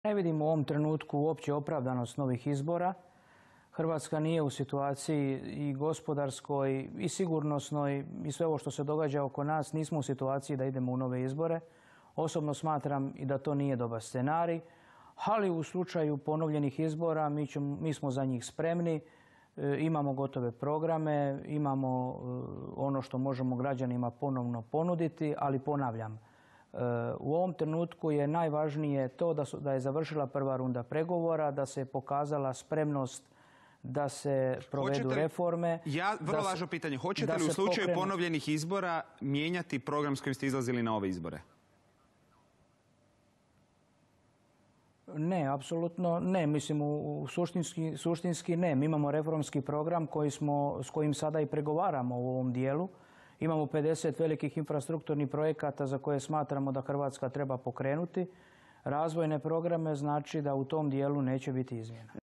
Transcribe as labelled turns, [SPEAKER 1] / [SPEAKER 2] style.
[SPEAKER 1] Ne vidim u ovom trenutku uopće opravdanost novih izbora. Hrvatska nije u situaciji i gospodarskoj i sigurnosnoj i sve ovo što se događa oko nas, nismo u situaciji da idemo u nove izbore. Osobno smatram i da to nije dobar scenarij, ali u slučaju ponovljenih izbora mi smo za njih spremni, imamo gotove programe, imamo ono što možemo građanima ponovno ponuditi, ali ponavljam, u ovom trenutku je najvažnije to da je završila prva runda pregovora, da se pokazala spremnost da se provedu reforme.
[SPEAKER 2] Vrlo važno pitanje. Hoćete li u slučaju ponovljenih izbora mijenjati program s kojim ste izlazili na ove izbore?
[SPEAKER 1] Ne, apsolutno ne. Mislim, suštinski ne. Mi imamo reformski program s kojim sada i pregovaramo u ovom dijelu. Imamo 50 velikih infrastrukturnih projekata za koje smatramo da Hrvatska treba pokrenuti. Razvojne programe znači da u tom dijelu neće biti izmjena.